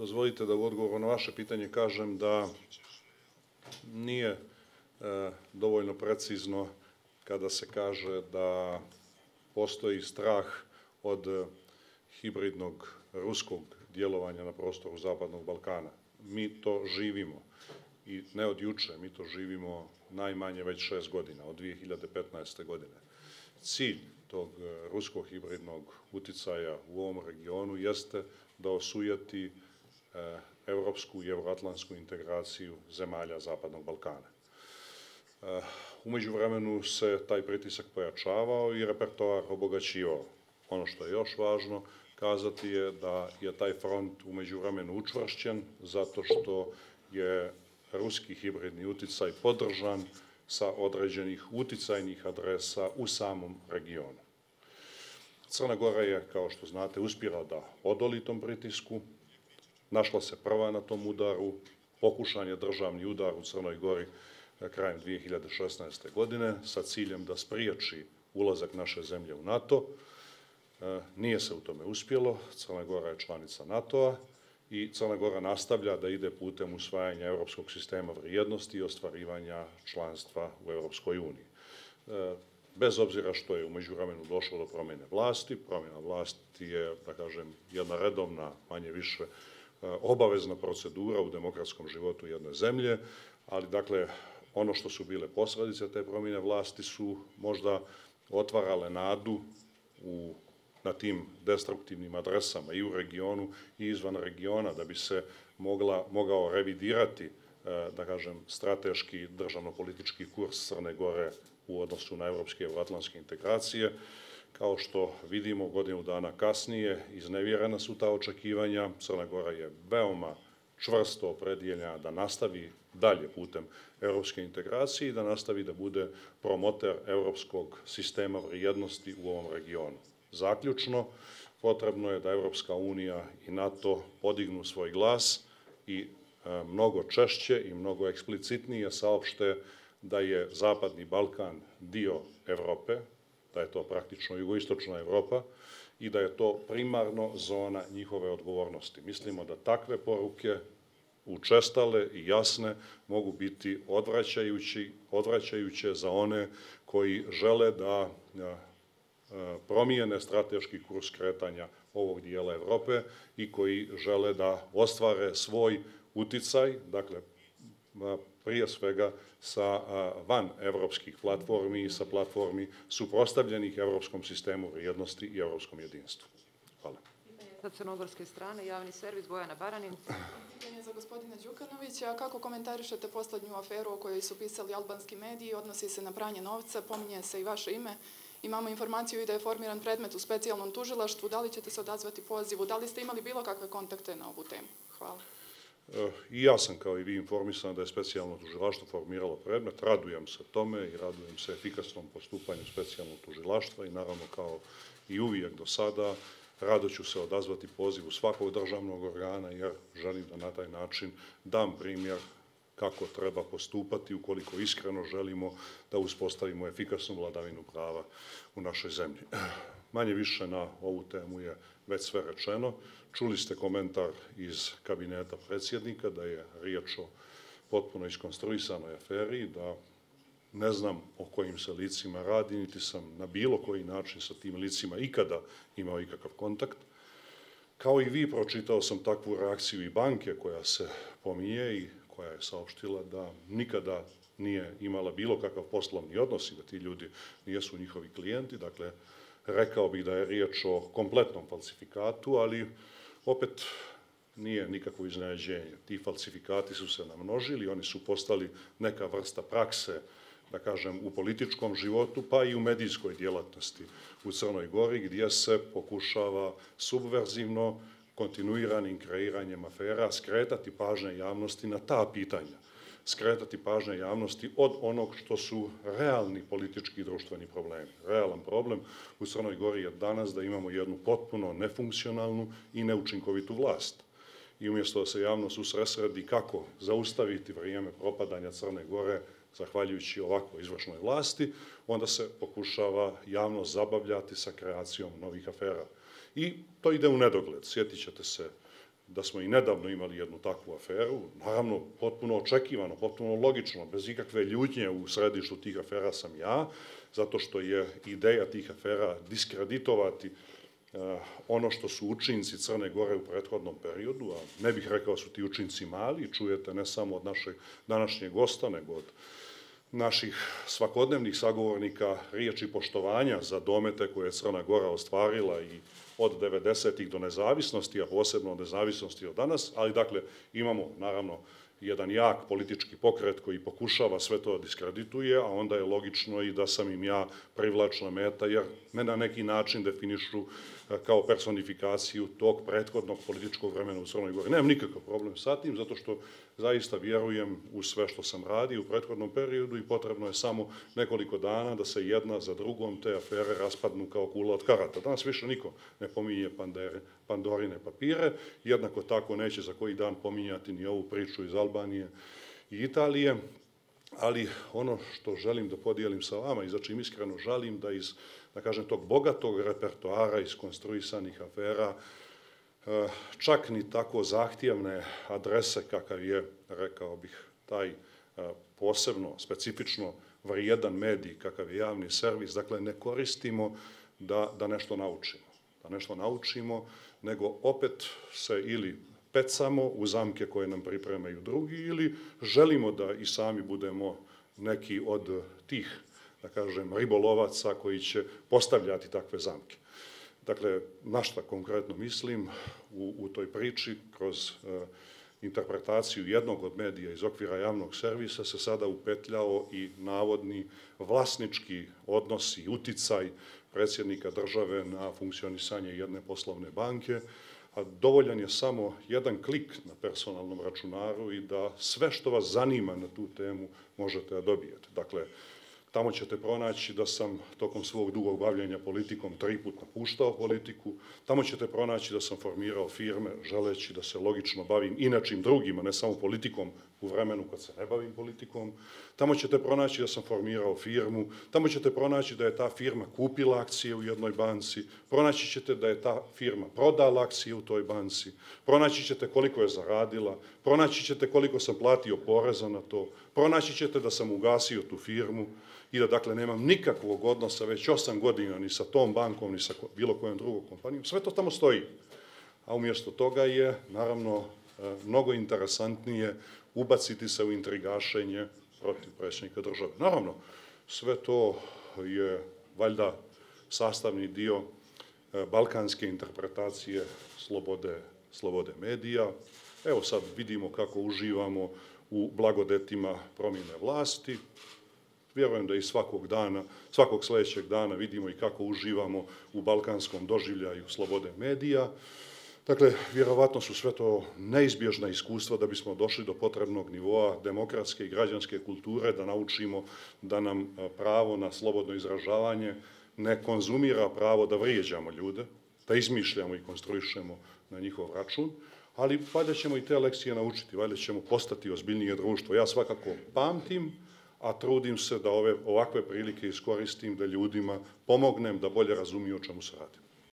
Dozvolite da u odgovoru na vaše pitanje kažem da nije dovoljno precizno kada se kaže da postoji strah od hibridnog ruskog djelovanja na prostoru Zapadnog Balkana. Mi to živimo i ne od juče, mi to živimo najmanje već 6 godina, od 2015. godine. Cilj tog ruskog hibridnog uticaja u ovom regionu jeste da osujeti evropsku i euroatlantsku integraciju zemalja Zapadnog Balkana. U međuvremenu se taj pritisak pojačavao i repertoar obogaćivao. Ono što je još važno kazati je da je taj front u međuvremenu učvršćen zato što je ruski hibridni uticaj podržan sa određenih uticajnih adresa u samom regionu. Crna Gora je, kao što znate, uspjela da odoli tom pritisku, našla se prva na tom udaru, pokušan je državni udar u Crnoj Gori krajem 2016. godine sa ciljem da spriječi ulazak naše zemlje u NATO. Nije se u tome uspjelo, Crna Gora je članica NATO-a i Crna Gora nastavlja da ide putem usvajanja europskog sistema vrijednosti i ostvarivanja članstva u Europskoj uniji. Bez obzira što je u međuvremenu došlo do promjene vlasti, promjena vlasti je, da kažem, jedna redovna, manje više obavezna procedura u demokratskom životu jedne zemlje, ali dakle, ono što su bile posljedice te promjene vlasti su možda otvarale nadu na tim destruktivnim adresama i u regionu i izvan regiona da bi se mogao revidirati, da kažem, strateški državno-politički kurs Crne Gore u odnosu na evropske i euroatlantske integracije. Kao što vidimo, godinu dana kasnije iznevjerena su ta očekivanja. Crna Gora je veoma čvrsto opredjeljena da nastavi dalje putem europske integracije i da nastavi da bude promoter europskog sistema vrijednosti u ovom regionu. Zaključno, potrebno je da Evropska unija i NATO podignu svoj glas i mnogo češće i mnogo eksplicitnije saopšte da je Zapadni Balkan dio Evrope, da je to praktično jugoistočna Evropa i da je to primarno zona njihove odgovornosti. Mislimo da takve poruke, učestale i jasne, mogu biti odvraćajuće za one koji žele da promijene strateški kurs kretanja ovog dijela Evrope i koji žele da ostvare svoj uticaj, dakle, prije svega sa van evropskih platformi i sa platformi suprotstavljenih evropskom sistemu vrijednosti i evropskom jedinstvu. Hvala. Sa crnogorske strane, javni servis, Bojana Baranin. Pitanje za gospodina Đukanovića. Kako komentarišete poslednju aferu o kojoj su pisali albanski mediji? Odnosi se na pranje novca, pominje se i vaše ime. Imamo informaciju i da je formiran predmet u specijalnom tužilaštvu. Da li ćete se odazvati pozivu? Da li ste imali bilo kakve kontakte na ovu temu? Hvala. I ja sam, kao i vi, informisan da je specijalno tužilaštvo formiralo predmet. Radujem se tome i radujem se efikasnom postupanju specijalnog tužilaštva i naravno, kao i uvijek do sada, rado ću se odazvati pozivu svakog državnog organa jer želim da na taj način dam primjer kako treba postupati ukoliko iskreno želimo da uspostavimo efikasnu vladavinu prava u našoj zemlji. Manje više na ovu temu je već sve rečeno. Čuli ste komentar iz kabineta predsjednika da je riječ o potpuno iskonstruisanoj aferi, da ne znam o kojim se licima radi, niti sam na bilo koji način sa tim licima ikada imao ikakav kontakt. Kao i vi, pročitao sam takvu reakciju i banke koja se pominje i koja je saopštila da nikada nije imala bilo kakav poslovni odnos i da ti ljudi nijesu njihovi klijenti. Dakle, rekao bih da je riječ o kompletnom falsifikatu, ali opet nije nikakvo iznenađenje. Ti falsifikati su se namnožili, oni su postali neka vrsta prakse, da kažem, u političkom životu, pa i u medijskoj djelatnosti u Crnoj Gori, gdje se pokušava subverzivno, kontinuiranim kreiranjem afera skretati pažnje javnosti na ta pitanja, skretati pažnje javnosti od onog što su realni politički i društveni problemi. Realan problem u Crnoj Gori je danas da imamo jednu potpuno nefunkcionalnu i neučinkovitu vlast. I umjesto da se javnost usredsredi kako zaustaviti vrijeme propadanja Crne Gore zahvaljujući ovakvoj izvršnoj vlasti, onda se pokušava javnost zabavljati sa kreacijom novih afera. I to ide u nedogled. Sjetit ćete se da smo i nedavno imali jednu takvu aferu, naravno potpuno očekivano, potpuno logično, bez ikakve ljutnje u središtu tih afera sam ja, zato što je ideja tih afera diskreditovati ono što su učinci Crne Gore u prethodnom periodu, a ne bih rekao su ti učinci mali, čujete ne samo od našeg današnjeg gosta, nego od naših svakodnevnih sagovornika riječi poštovanja za domete koje je Crna Gora ostvarila i od 90-ih do nezavisnosti, a posebno od nezavisnosti od danas, ali dakle imamo naravno jedan jak politički pokret koji pokušava sve to diskredituje, a onda je logično i da sam im ja privlačna meta, jer me na neki način definišu kao personifikaciju tog prethodnog političkog vremena u Crnoj Gori. Nemam nikakav problem sa tim, zato što zaista vjerujem u sve što sam radio u prethodnom periodu i potrebno je samo nekoliko dana da se jedna za drugom te afere raspadnu kao kula od karata. Danas više niko ne pominje Pandorine papire, jednako tako neće za koji dan pominjati ni ovu priču iz Albanije i Italije, ali ono što želim da podijelim sa vama i za čim iskreno žalim da iz, da kažem, tog bogatog repertoara iskonstruisanih afera, čak ni tako zahtjevne adrese kakav je, rekao bih, taj posebno, specifično vrijedan medij kakav je javni servis, dakle ne koristimo da nešto naučimo. Da nešto naučimo, nego opet se ili pecamo u zamke koje nam pripremaju drugi ili želimo da i sami budemo neki od tih, da kažem, ribolovaca koji će postavljati takve zamke. Dakle, na šta konkretno mislim u toj priči, kroz interpretaciju jednog od medija iz okvira javnog servisa se sada upetljao i navodni vlasnički odnos i uticaj predsjednika države na funkcionisanje jedne poslovne banke, a dovoljan je samo jedan klik na personalnom računaru i da sve što vas zanima na tu temu možete da dobijete. Dakle, tamo ćete pronaći da sam tokom svog dugog bavljenja politikom 3 puta napuštao politiku, tamo ćete pronaći da sam formirao firme želeći da se logično bavim i nečim drugim, a ne samo politikom u vremenu kad se ne bavim politikom, tamo ćete pronaći da sam formirao firmu, tamo ćete pronaći da je ta firma kupila akcije u jednoj banci, pronaći ćete da je ta firma prodala akcije u toj banci, pronaći ćete koliko je zaradila, pronaći ćete koliko sam platio poreza na to, pronaći ćete da sam ugasio tu firmu i da dakle nemam nikakvog odnosa već 8 godina ni sa tom bankom, ni sa bilo kojom drugom kompanijom. Sve to tamo stoji. A umjesto toga je, naravno, mnogo interesantnije ubaciti se u intrigašenje protiv predsjednika države. Naravno, sve to je valjda sastavni dio balkanske interpretacije slobode medija. Evo sad vidimo kako uživamo u blagodetima promjene vlasti. Vjerujem da i svakog sljedećeg dana vidimo i kako uživamo u balkanskom doživljaju slobode medija. Dakle, vjerovatno su sve to neizbježna iskustva da bismo došli do potrebnog nivoa demokratske i građanske kulture, da naučimo da nam pravo na slobodno izražavanje ne konzumira pravo da vrijeđamo ljude, da izmišljamo i konstruišemo na njihov račun, ali valjda ćemo i te lekcije naučiti, valjda ćemo postati ozbiljnije društvo. Ja svakako pamtim, a trudim se da ovakve prilike iskoristim, da ljudima pomognem da bolje razumiju o čemu se radi.